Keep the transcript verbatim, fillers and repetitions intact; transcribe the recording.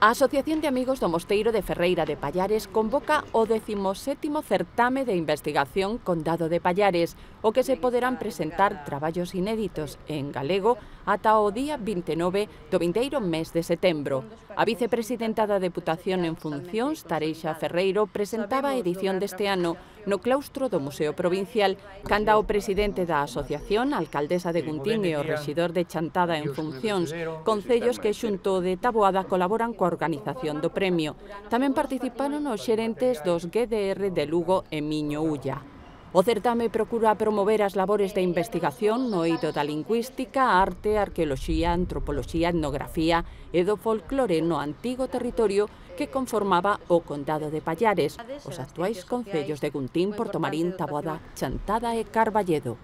A Asociación de Amigos do Mosteiro de Ferreira de Pallares convoca o decimosétimo certame de investigación Condado de Pallares, o que se poderán presentar traballos inéditos en galego ata o día vinte e nove do vindeiro mes de setembro. A vicepresidenta da Deputación en funcións, Tareixa Ferreiro, presentaba a edición deste ano no claustro do Museo Provincial, canda o presidente da asociación, a alcaldesa de Guntín e o rexidor de Chantada en funcións, concellos que xunto de Taboada colaboran coa organización do premio. Tamén participaron os xerentes dos G D R de Lugo e Miño Ulla. O certame procura promover as labores de investigación no eido da lingüística, arte, arqueoloxía, antropoloxía, etnografía e do folclore no antigo territorio que conformaba o Condado de Pallares, os actuais concellos de Guntín, Portomarín, Taboada, Chantada e Carballedo.